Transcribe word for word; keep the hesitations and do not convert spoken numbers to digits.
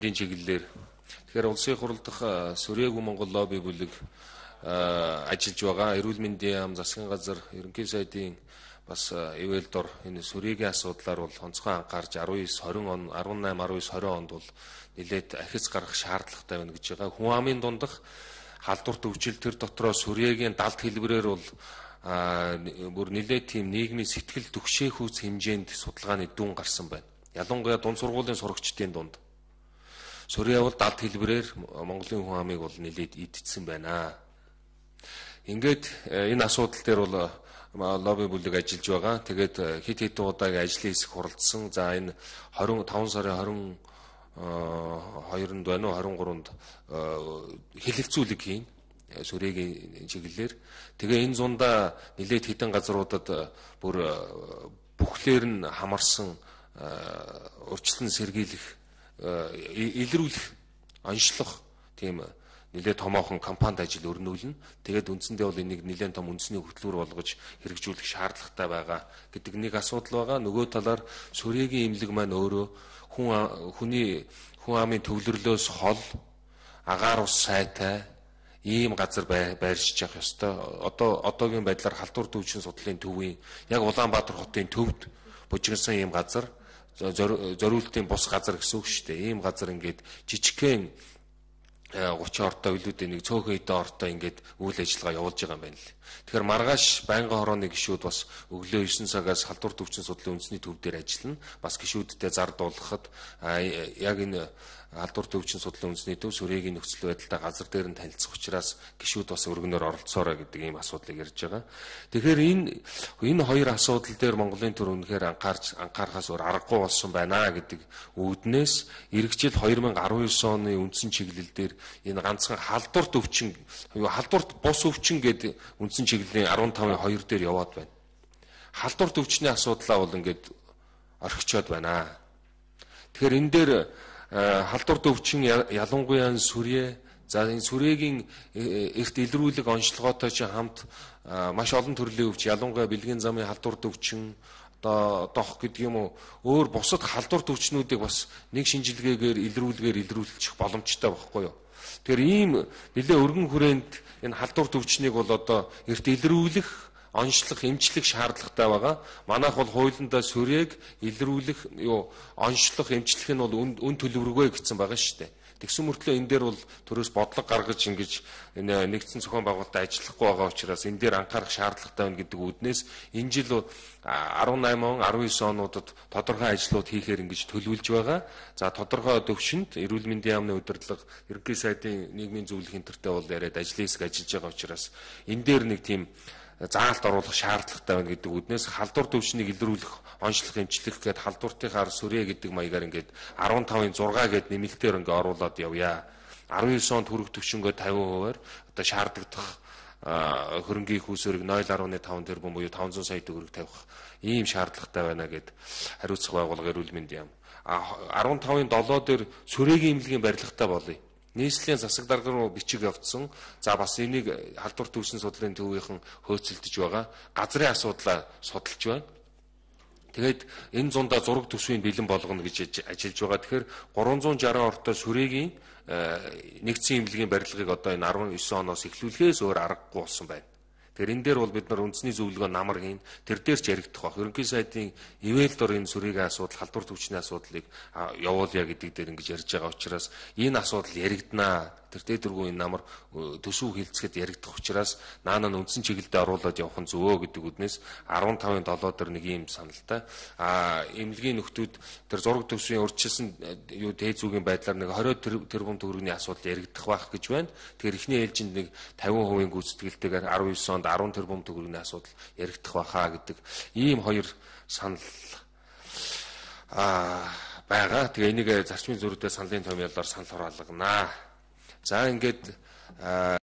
энэ чиглэлээр тэгэхээр улсын хурал дахь Сүрээгүй Монгол лобби бүлэг ажиллаж байгаа. Эрүүл мэндийн яам, засгийн газар, ерөнхий сайдын бас ивэл дор энэ сүрээгийн асуудлаар бол онцгой анхаарч арван девять тwenty он арван eight арван девять twenty онд бол нэлээд ахиц гарах шаардлагатай байна гэж байгаа. Хүн амын дундах халдварт өвчил тэр дотроо сүрээгийн далд хэлбэрээр бол бүр нэлээд тийм нийгмийн сэтгэл түгшээх хэмжээнд судалгааны дүн гарсан байна. Ялангуяа дунд сургуулийн сурагчдын дунд Сүрээ бол далд хэлбэрээр Монголын хүн амыг бол нэлээд идчихсэн байна. Ингээд энэ асуудал дээр бол лобби бүлэг ажиллаж байгаа. Тэгээд хэд хэдэн удаагийн ажлын хэсэг хуралдсан. За энэ twenty five сарын twenty-second байна уу twenty-third хэлэлцүүлэг хийн сүрээгийн чиглэлээр. Тэгээ энэ зундаа нэлээд хэдэн газруудад бүр бүхлээр нь хамарсан урьдчилан сэргийлэх илрүүлэх онцлох тийм нэлээд томоохон компанид ажил өрнүүлнэ. Тэгээд үндсэндээ бол энийг нэлээд том үндэсний хөтөлбөр болгож хэрэгжүүлэх шаардлагатай байгаа гэдэг нэг асуудал байгаа. Нөгөө талаар сүрээгийн имлэг маань өөрөө хүн хүний хүн амын төвлөрлөөс хол агаар ус сайтай ийм газар байршиж явах ёстой. Одоо одоогийн байдлаар халдвар төвчин судлалын төвийн яг Улаанбаатар хотын төвд бужигнсан ийм газар зориултын бус газар гэсэн үг шүү дээ. Ийм газар ингээд жижигхэн thirty ортой үлүүдээ нэг цөөхөн хэдэн ортой ингээд үйл ажиллагаа явуулж байгаа юм байна л. Тэгэхээр маргааш байнгын хорооны гишүүд бас өглөө nine цагаас халдвар төвчин судлалын үндэсний төв дээр ажиллана. Бас гишүүдтэй зар дуулгахад яг энэ халдвар төвчин судлалын үндэсний төв сүрээгийн нөхцөл байдалтай газар дээр нь танилцах учраас гишүүд бас өргөнөөр оролцоорой гэдэг ийм асуудлыг ярьж байгаа. Тэгэхээр энэ энэ хоёр асуудал дээр Монголын төр үнэхээр анхаарч анхаарахаас өөр аргагүй болсон байна гэдэг үүднээс иргэжил twenty nineteen оны үндсэн чиглэл дээр энэ ганцхан халдвар төвчин юу халдварт бус өвчин гэдэг үндсэн чиглэлийн fifteen two дээр яваад байна. Халдвар төвчний асуудлаа бол ингээд орхичоод байна. Тэгэхээр энэ дээр халдвар төвчин ялангуяа сүрээ за энэ сүрээгийн эрт илрүүлэг онцлогоотой ч хамт маш олон төрлийн өвч ялангуяа бэлгийн замын халдвар төвчин одоо дох гэдэг юм уу өөр бусад халдвар төвчнүүдийг бас нэг шинжилгээгээр илрүүлгээр илрүүлчих боломжтой байхгүй юу. Тэгэхээр ийм нэлээ өргөн хүрээнд энэ халдвар төвчнийг бол одоо эрт илрүүлэх онцлох, эмчлэх шаардлагатай байгаа. Манайх бол хуулиндаа сүрээг илрүүлэх, юу онцлох, эмчлэх нь бол үн төлөвлөгөө гэсэн байгаа шүү дээ. Тэгсэн мөртлөө энэ дээр бол төрөөс бодлого гаргаж ингэж энэ нэгдсэн зохион байгуулалтад ажиллахгүй байгаа учраас энэ дээр анхаарах шаардлагатай байна гэдэг үүднээс энэ жил eighteen он, nineteen онуудад тодорхой ажлууд хийхээр ингэж төлөвлөж байгаа. За тодорхой төвшөнд эрүүл мэндийн яамны удирдлага, ерөнхий сайдын нийгмийн зөвлөх энтертэй бол яриад ажлын хэсэг ажиллаж байгаа учраас энэ дээр нэг тийм заалт оруулах шаардлагатай байна гэдэг үднээс халдвар төвчнийг илрүүлэх, онцлох, эмчлэх гээд халдвартынхаар сүрээ гэдэг маягаар ингээд fifteen six гээд нэмэлтээр ингээд оруулаад явъя. nineteen онд хүрэх төвшөнгөө fifty percent-аар одоо шаардлагадах хөрөнгийн хүүсвэрийг nine point five тэрбум буюу five hundred сая төгрөг тавих ийм шаардлагатай байна гэд хариуцах байгууллага эрүүл мэндийн яам. fifteen seven дээр сүрээгийн имлэгийн барилгатай болъё. Нийслэлийн засаг дарга руу бичиг явуулсан. За бас энийг халдвар төвчин судлалын төвийнхэн хөөцөлдөж байгаа. Газрын асуудлаа судалж байна. Тэгээд энэ зундаа зураг төсвийн бэлэн болгоно гэж ажиллаж байгаа. Тэгэхээр three sixty ортой сүрээгийн нэгдсэн имлэгийн барилгыг одоо энэ nineteen оноос эхлүүлэхээс өөр аргагүй болсон байна. Тэгэхээр энэ дээр бол бид нар үндэсний зөвлөгөө намар хийн тэр дээр ч яригдах баг. Ерөнхий сайдын ивэл дор энэ сүрээгийн асуудал, халдвар төвчний асуудлыг явуулъя гэдэг дээр ингэж ярьж байгаа учраас энэ асуудал яригдана. Тэр дээдэргүй энэ намар төсөв хилцэхэд яригдах учраас наана нь үндсэн чиглэлдээ оруулаад явах нь зөвөө гэдэг үднээс fifteen seven дээр нэг юм саналтай. А эмнэлгийн нөхдүүд тэр зураг төсвийн урьдчилсан юу дээд зүгийн байдлаар нэг twenty тэрбум төгрөгийн асуудал яригдах байх гэж байна. Тэгэхээр эхний ээлжинд нэг fifty percent гүйцэтгэлтэйгээр nineteen онд ten тэрбум төгрөгийн асуудал яригдах байхаа гэдэг ийм хоёр санал а байгаа. Тэгээ энийг зарчмын зөрүүдэд саналын томьёолоор санал хураалгана. За ингээд